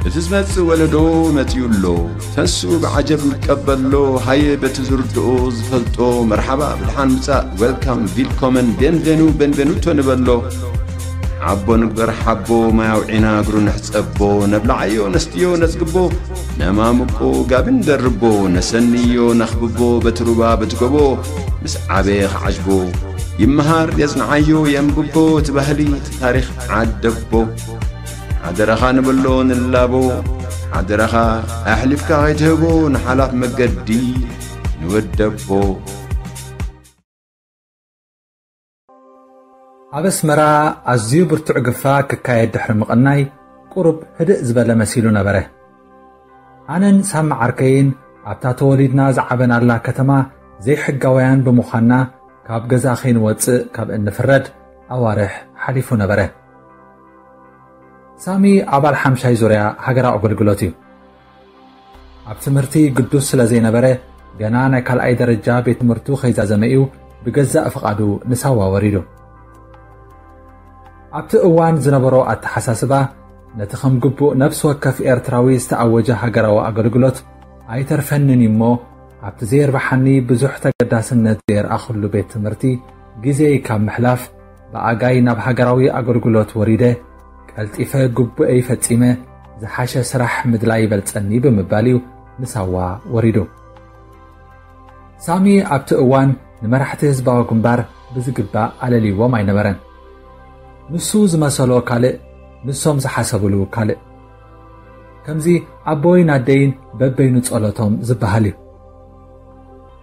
እቲ ዝመጽእ ወለዶ መጺኡ ኣሎ። ተንስኡ ብዓጀብ ንቀበሎ። ሃየ በቲ ዝርድኦ ዝፈልጦ መርሓባ ብድሓን ምጻእ፣ ዌልካም፣ ቪልኮመን፣ ቤንቬኑ፣ ቤንቬኑቶ ንበሎ። ሓቦ ንግበር ሓቦ፣ ማይ ኣውዒና እግሩ ንሕጸቦ። ነብልዓዮ ነስትዮ ነጽግቦ፣ ነማምቆ ጋቢ ንደርቦ። ነሰንዮ ነኽብቦ በቲ ሩባ በቲ ጎቦ። ምስ ዓበየ ክዓጅቦ ይመሃር የጽንዓዮ የንብቦ። እቲ ባህሊ እቲ ታሪኽ ዓደቦ። ሓደራኻ ንብሎ ንላቦ። ሓደራኻ ኣሕሊፍካ ከይትህቦ ንሓላፍ መገዲ ንወደቦ። ኣብ ኣስመራ ኣዝዩ ብርቱዕ ግፋ ክካየድ ድሕሪ ምቕናይ፣ ቁሩብ ህድእ ዝበለ መሲሉ ነበረ። ኣነን ሳሚ ዓርከይን ኣብታ ተወሊድና ዝዓበናላ ከተማ ዘይሕጋውያን ብምዃንና፣ ካብ ገዛ ከይንወጽእ ካብ እንፍረድ ኣዋርሕ ሓሊፉ ነበረ። ሳሚ ኣባል ሓምሻይ ዙርያ ሃገራዊ ኣገልግሎት እዩ። ኣብ ትምህርቲ ግዱስ ስለ ዘይነበረ፣ ገና ናይ ካልኣይ ደረጃ ቤት ትምህርቱ ከይዛዘመ እዩ ብገዛእ ፍቓዱ ንሳዋ ወሪዱ። ኣብቲ እዋን ዝነበሮ ኣተሓሳስባ፣ ነቲ ከም ግቡእ ነፍሲ ወከፍ ኤርትራዊ ዝተኣወጀ ሃገራዊ ኣገልግሎት ኣይተርፈንን እዩ እሞ፣ ኣብቲ ዘየርብሓኒ ብዙሕ ተገዳስነት ዘየርኣኹሉ ቤት ትምህርቲ ግዜይ ካብ ምሕላፍ፣ ብኣጋይ ናብ ሃገራዊ ኣገልግሎት ወሪደ፣ ቀልጢፈ ግቡኤይ ፈጺመ፣ ዝሓሸ ስራሕ ምድላይ ይበልጸኒ ብምባል እዩ ንሳዋ ወሪዱ። ሳሚ ኣብቲ እዋን ንመራሕቲ ህዝባዊ ግንባር ብዝግባእ ኣለልይዎም ኣይነበረን። ንሱ ዝመሰሎ ካልእ፣ ንሶም ዝሓሰብሉ ካልእ። ከምዚ ኣቦይን ኣደይን በበይኑ ጸሎቶም ዝበሃል እዩ።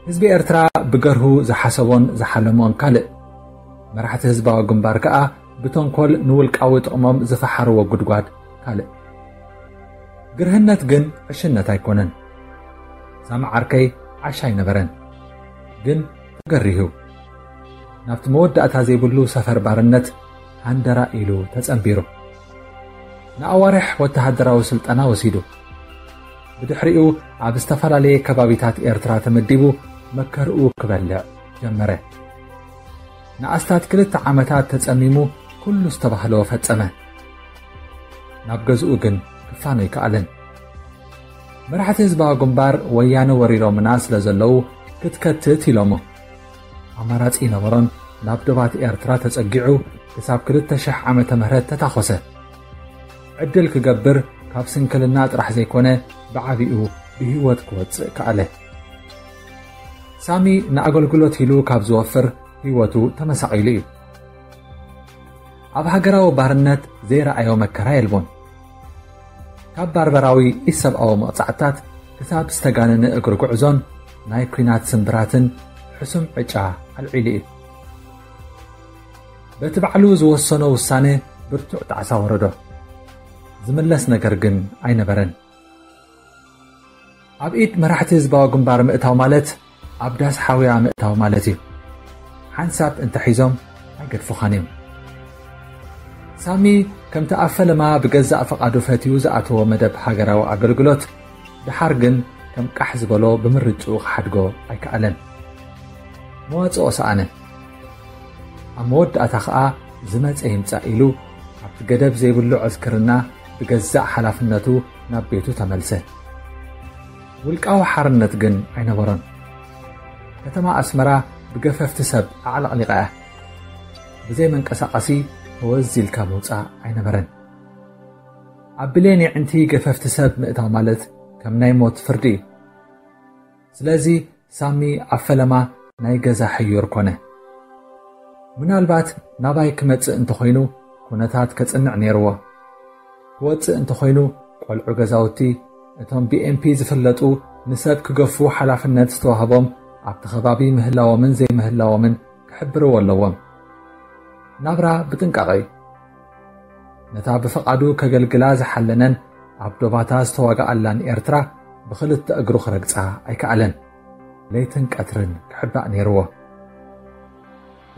ህዝቢ ኤርትራ ብገርሁ ዝሓሰቦን ዝሓለሞን ካልእ። መራሕቲ ህዝባዊ ግንባር ከኣ ብተንኮል ንውልቃዊ ጥቕሞም ዝፈሓርዎ ጉድጓድ ካልእ። ግርህነት ግን ዕሽነት ኣይኮነን። ሳሚ ዓርከይ ዓሻ ኣይነበረን፣ ግን ተገሪሁ። ናብቲ መወዳእታ ዘይብሉ ሰፈር ባርነት ሃንደራ ኢሉ ተጸንቢሩ። ንኣዋርሕ ወተሃደራዊ ስልጠና ወሲዱ። ብድሕሪኡ ኣብ ዝተፈላለየ ከባቢታት ኤርትራ ተመዲቡ መከርኡ ክበልዕ ጀመረ። ንኣስታት ክልተ ዓመታት ተጸሚሙ ኩሉ ዝተባህሎ ፈጸመ። ናብ ገዝኡ ግን ክፋኖ ኣይከኣለን። መራሕቲ ህዝባዊ ግንባር ወያነ ወሪሮምና ስለ ዘለዉ ክትከትት ኢሎሞ። ኣማራጺ ይነበሮን ናብ ዶባት ኤርትራ ተጸጊዑ ክሳብ ክልተ ሽሕ ዓመተ ምህረት ተታኾሰ። ዕድል ክገብር ካብ ስንክልና ጥራሕ ዘይኮነ ብዓቢኡ ብህይወት ክወጽእ ከኣለ። ሳሚ ንኣገልግሎት ኢሉ ካብ ዝወፍር ህይወቱ ተመሳቒሉ እዩ። ኣብ ሃገራዊ ባርነት ዘይረኣዮ መከራ የልቦን። ካብ ባርበራዊ ኢሰብኣዊ መቕጻዕትታት ክሳብ ዝተጋነነ እግሪ ጉዕዞን ናይ ኲናት ስምብራትን ሕሱም ዕጫ ኣልዒሉ እዩ። በቲ ባዕሉ ዝወሰኖ ውሳነ ብርቱዕ ጣዕሳ ወረዶ። ዝምለስ ነገር ግን ኣይነበረን። ኣብ ኢድ መራሕቲ ህዝባዊ ግንባር ምእታው ማለት ኣብ ዳስ ሓውያ ምእታው ማለት እዩ። ሓንሳብ እንተሒዞም ኣይገድፉኻን እዮም። ሳሚ ከምቲ ኣብ ፈለማ ብገዛእ ፍቓዱ ፈትዩ ዝኣተዎ መደብ ሃገራዊ ኣገልግሎት፣ ድሓር ግን ከም ቃሕ ዝበሎ ብምርጭኡ ክሓድጎ ኣይከኣለን። መዋጽኦ ሰኣነ። ኣብ መወዳእታ ኸኣ ዝመጸ ይምጻእ ኢሉ ኣብቲ ገደብ ዘይብሉ ዕስክርና ብገዛእ ሓላፍነቱ ናብ ቤቱ ተመልሰ። ውልቃዊ ሓርነት ግን ኣይነበሮን። ከተማ ኣስመራ ብገፈፍቲ ሰብ ኣዕለቕሊቓ እያ። ብዘይ መንቀሳቐሲ ተወዝ ኢልካ ምውጻእ ኣይነበረን። ኣብ ብሌን የዕንቲ ገፈፍቲ ሰብ ምእታው ማለት ከም ናይ ሞት ፍርዲ እዩ። ስለዚ ሳሚ ኣብ ፈለማ ናይ ገዛ ሕዩር ኮነ። ምናልባት ናባይ ክመጽእ እንተኾይኑ ኩነታት ከጽንዕ ነይርዎ። ክወጽእ እንተኾይኑ ቆልዑ ገዛውቲ፣ እቶም ብኤምፒ ዝፍለጡ ንሰብ ክገፉ ሓላፍነት ዝተዋህቦም ኣብቲ ከባቢ ምህላዎምን ዘይምህላዎምን ክሕብርዎ ኣለዎም። ናብራ ብጥንቃቐ እዩ። ነታ ብፍቓዱ ከገልግላ ዝሓለነን ኣብ ዶባታ ዝተዋግኣላን ኤርትራ ብኽልተ እግሩ ክረግጻ ኣይከኣለን። ለይትን ቀትርን ክሕባእ ነይርዎ።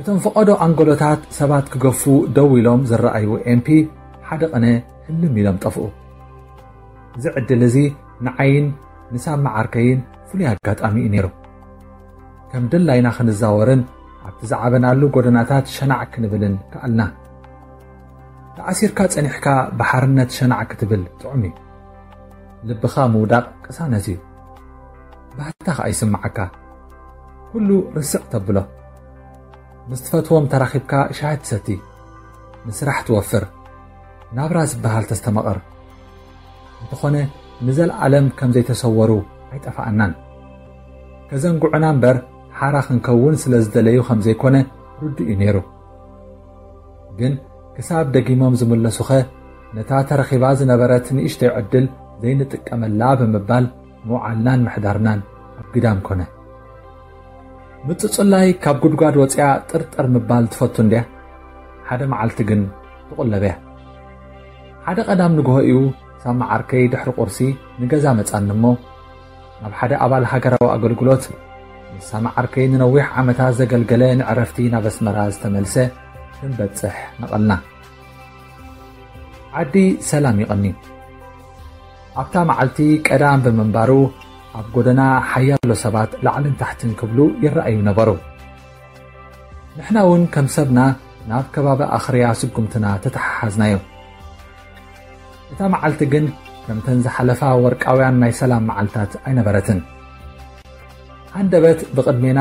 እቶም ፈቐዶ ኣንጎሎታት ሰባት ክገፉ ደው ኢሎም ዝረኣዩ ኤምፒ ሓደ ቕነ ህልም ኢሎም ጠፍኡ። እዚ ዕድል እዚ ንዓይን ንሳሚ ዓርከይን ፍሉይ ኣጋጣሚ እዩ ነይሩ። ከም ድላይና ክንዛወርን ኣብቲ ዝዓበናሉ ጎደናታት ሸናዕ ክንብልን ከኣልና። ተኣሲርካ ጸኒሕካ ብሓርነት ሸናዕ ክትብል ጥዑም እዩ። ልብኻ ምውዳቕ ቅሳነት እዩ። ባህታ ኸኣ ይስምዓካ። ኩሉ ርስዕ ተብሎ። ምስ ትፈትዎም ተራኺብካ ሻሂ ትሰቲ፣ ንስራሕ ትወፍር፣ ናብራ ዝበሃል ተስተማቕር። እንተኾነ ንዘለኣለም ከም ዘይተሰወሩ ኣይጠፍኣናን። ከዘንግዑና እምበር ሓራ ክንከውን ስለ ዝደለዩ ከም ዘይኮነ ርዱእ እዩ ነይሩ። ግን ክሳብ ደጊሞም ዝምለሱኸ ነታ ተረኺባ ዝነበረት ንእሽተይ ዕድል ዘይንጥቀመላ ብምባል ምውዓልናን ምሕዳርናን ኣብ ግዳም ኮነ። ምጽጹላይ ካብ ጉድጓድ ወጺኣ ጥርጥር ምባል ትፈቱ እንድያ። ሓደ መዓልቲ ግን ትቑለብ እያ። ሓደ ቀዳም ንግሆ እዩ ሳማ ዓርከይ ድሕሪ ቁርሲ ንገዛ መጻኒ እሞ፣ ናብ ሓደ ኣባል ሃገራዊ ኣገልግሎት፣ ምስ ሳማ ዓርከይ ንነዊሕ ዓመታት ዘገልገለ፣ ንዕረፍቲ ናብ ኣስመራ ዝተመልሰ ክንበጽሕ ነቐልና። ዓዲ ሰላም ይቐኒ። ኣብታ መዓልቲ ቀዳም ብምንባሩ፣ ኣብ ጎደና ሓያሎ ሰባት ላዕልን ታሕትን ክብሉ ይረኣዩ ነበሩ። ንሕና እውን ከም ሰብና ናብ ከባቢ ኣኽርያ ስጉምትና ተተሓሓዝናዮ። እታ መዓልቲ ግን ከምተን ዝሓለፋ ወርቃውያን ናይ ሰላም መዓልታት ኣይነበረትን። ሃንደበት ብቕድሜና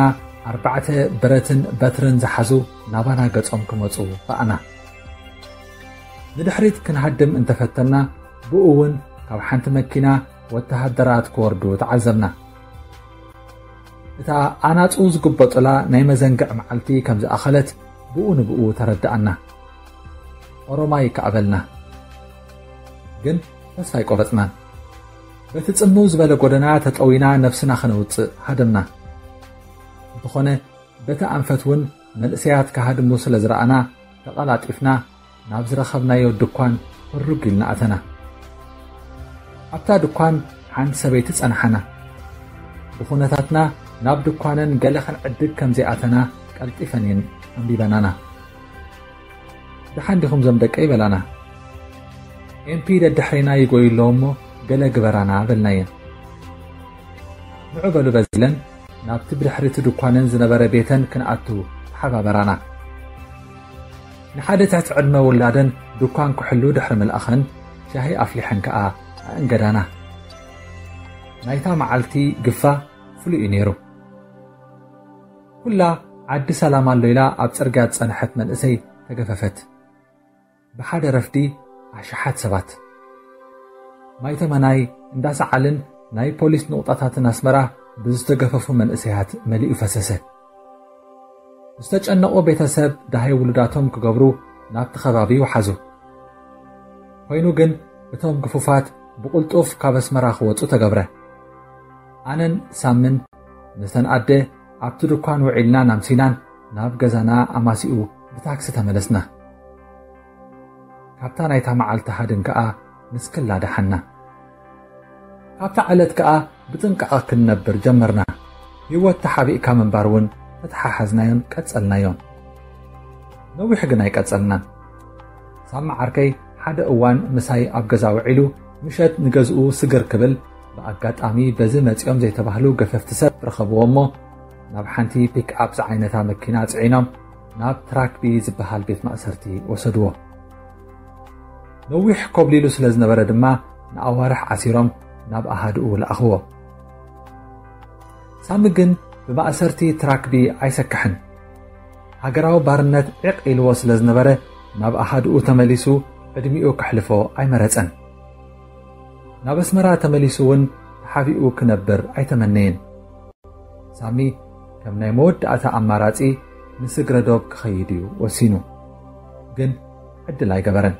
ኣርባዕተ ብረትን በትርን ዝሓዙ ናባና ገጾም ክመጹ ረኣና። ንድሕሪት ክንሃድም እንተፈተና፣ ብኡ እውን ካብ ሓንቲ መኪና ወተሃደራት ክወርዱ ተዓዘብና። እታ ኣናጹ ዝግበጡላ ናይ መዘንግዕ መዓልቲ ከም ዝኣኸለት ብኡ ንብኡ ተረድኣና። ኦሮማይ ከኣ በልና። ግን ተስፋ ኣይቆረጽናን። በቲ ጽምው ዝበለ ጎደና ተጠዊና ነፍስና ከነውጽእ ሃደምና። እንተኾነ በቲ ኣንፈት እውን መንእሰያት ክሃድሙ ስለ ዝረኣና፣ ተቐላጢፍና ናብ ዝረኸብናዮ ድኳን ህሩግ ኢልና ኣተና። ኣብታ ድኳን ሓንቲ ሰበይቲ ጸንሓና። ብኹነታትና ናብ ድኳነን ገለ ክንዕድግ ከም ዘይኣተና ቀልጢፈን እየን ኣንቢበናና። "ደሓን ዲኹም ዞም ደቀይ?" በላና። "ኤምፒ ደድሕሬና ይጎዩ ኣለዉ እሞ ገለ ግበራና" በልናየን። "ንዑ" በሉ በዚለን ናብቲ ብድሕሪቲ ድኳነን ዝነበረ ቤተን ክንኣቱ ተሓባበራና። ንሓደ ትሕቲ ዕድመ ውላደን ድኳን ክሕሉ ድሕሪ ምልኣኸን፣ ሻሂ ኣፍሊሐን ከኣ ኣእንገዳና። ናይታ መዓልቲ ግፋ ፍሉይ እዩ ነይሩ። ኩላ ዓዲ ሰላም ኣሎ ኢላ ኣብ ጽርግያ ዝጸንሐት መንእሰይ ተገፈፈት። ብሓደ ረፍዲ ኣሽሓት ሰባት፣ ማይ ተመናይ፣ እንዳ ሰዓልን ናይ ፖሊስ ንቑጣታትን ኣስመራ ብዝተገፈፉ መንእሰያት መሊኡ ፈሰሰ። ዝተጨነቑ ቤተሰብ ደሃይ ውሉዳቶም ክገብሩ ናብቲ ከባቢ ይውሓዙ። ኮይኑ ግን እቶም ግፉፋት ብቕልጡፍ ካብ ኣስመራ ክወጹ ተገብረ። ኣነን ሳምን ምስተን ኣደ ኣብቲ ድኳን ውዒልናን ኣምሲናን ናብ ገዛና ኣማሲኡ ብታክሲ ተመለስና። ካብታ ናይታ መዓልቲ ሃድን ከኣ ንስክላ ደሓና። ካብታ ዕለት ከኣ ብጥንቃቐ ክንነብር ጀመርና። ህይወት ተሓቢእካ ምንባር እውን ተተሓሓዝናዮን ቀጸልናዮን። ነዊሕ ግን ኣይቀጸልናን። ሳማ ዓርከይ ሓደ እዋን ምሳይ ኣብ ገዛ ውዒሉ፣ ምሸት ንገዝኡ ስግር ክብል፣ ብኣጋጣሚ በዚ መጺኦም ዘይተባህሉ ገፈፍቲ ሰብ ረኸብዎ እሞ፣ ናብ ሓንቲ ፒክኣፕ ዝዓይነታ መኪና ጽዒኖም ናብ ትራክቢ ዝበሃል ቤት ማእሰርቲ ወሰድዎ። ነዊሕ ኮብሊሉ ስለ ዝነበረ ድማ ንኣዋርሕ ዓሲሮም ናብ ኣሃድኡ ለኣኽዎ። ሳሚ ግን ብማእሰርቲ ትራክቢ ኣይሰክሕን። ሃገራዊ ባርነት ዒቕ ኢልዎ ስለ ዝነበረ ናብ ኣሃድኡ ተመሊሱ ዕድሚኡ ከሕልፎ ኣይመረጸን። ናብ ኣስመራ ተመሊሱ እውን ተሓቢኡ ክነብር ኣይተመነየን። ሳሚ ከም ናይ መወዳእታ ኣማራጺ ንስግረ ዶብ ክኸይድ እዩ ወሲኑ። ግን ዕድል ኣይገበረን።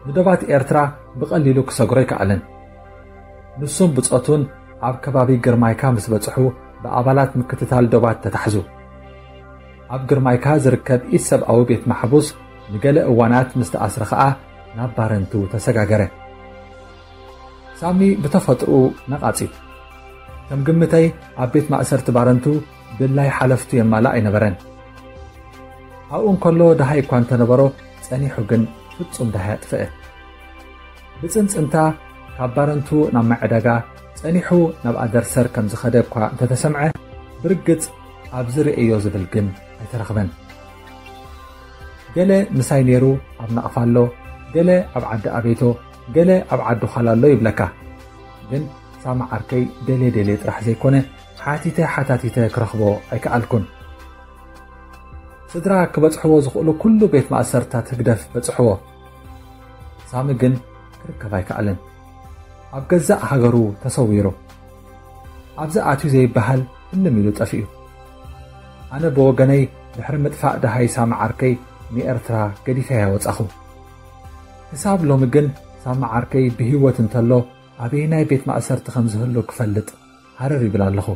ንዶባት ኤርትራ ብቐሊሉ ክሰግሮ ኣይከኣለን። ንሱን ብጾቱን ኣብ ከባቢ ግርማይካ ምስ በጽሑ ብኣባላት ምክትታል ዶባት ተታሕዙ። ኣብ ግርማይካ ዝርከብ ኢድ ሰብኣዊ ቤት ማሕቡስ ንገለ እዋናት ምስ ተኣስረ ኸኣ ናብ ባረንቱ ተሰጋገረ። ሳሚ ብተፈጥሮኡ ነቓጺ። ከም ግምተይ ኣብ ቤት ማእሰርቲ ባረንቱ ድላይ ሓለፍቱ የማልእ ኣይነበረን። ኣብኡ እንከሎ ደሃይ እኳ እንተነበሮ ጸኒሑ ግን ፍጹም ደሃይ ኣጥፍአ። ብጽንጽንታ ካብ ባረንቱ ናብ ማይ ዕዳጋ ጸኒሑ ናብ ኣደርሰር ከም ዝኸደ እኳ እንተተሰምዐ ብርግጽ ኣብዚ ርእዮ ዝብል ግን ኣይተረኽበን። ገለ ምሳይ ነይሩ ኣብ ናቕፋ ኣሎ፣ ገለ ኣብ ዓዲ ኣቤቶ፣ ገለ ኣብ ዓዲ ዃላ ኣሎ ይብለካ። ግን ሳሚ ዓርከይ ደልየ ደልየ ጥራሕ ዘይኮነ፣ ሓቲተ ሓታቲተ ክረኽቦ ኣይከኣልኩን። ስድራ ክበጽሕዎ ዝኽእሉ ኩሉ ቤት ማእሰርታት ህግደፍ በጽሕዎ። ሳሚ ግን ክርከብ ኣይከኣለን። ኣብ ገዛእ ሃገሩ ተሰዊሩ። ኣብዚ ኣትዩ ዘይበሃል ህልም ኢሉ ጠፊኡ። ኣነ ብወገነይ ድሕሪ ምጥፋእ ደሃይ ሳሚ ዓርከይ ንኤርትራ ገዲፈያ ወጻኹ። ክሳብ ሎሚ ግን ሳሚ ዓርከይ ብህይወት እንተሎ ኣበየናይ ቤት ማእሰርቲ ከም ዝህሉ ክፈልጥ ሃረር ይብል ኣለኹ።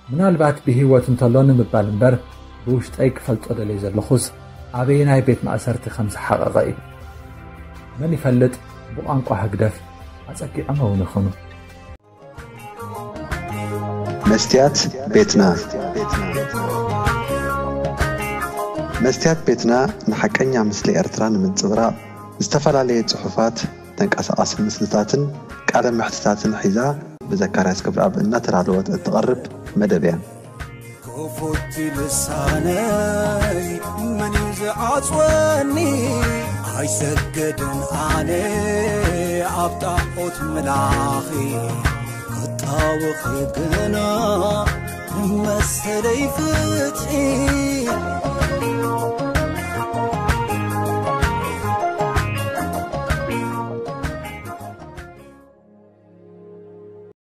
ምናልባት ብህይወት እንተሎ ንምባል እምበር ብውሽጠይ ክፈልጦ ደልየ ዘለኹስ ኣበየናይ ቤት ማእሰርቲ ከም ዝሓቐቐ እዩ። መን ይፈልጥ ብቋንቋ ህግደፍ ኣጸጊዖም እውን ይኾኑ። መስትያት ቤትና መስትያት ቤትና ንሓቀኛ ምስሊ ኤርትራ ንምንጽብራቕ ዝተፈላለየ ጽሑፋት፣ ተንቀሳቓሲ ምስልታትን ቃለ ምሕትታትን ሒዛ ብዘካርያስ ክብረኣብ እናተዳለወት እትቐርብ መደብ እያ። ክፉት ልሳነይ መን እዩ ዝዓጽወኒ? ኣይሰገድን ኣነ ኣብ ጣዖት ምላኺ ክጣወኺ ግና መሰለይ ፍትሒ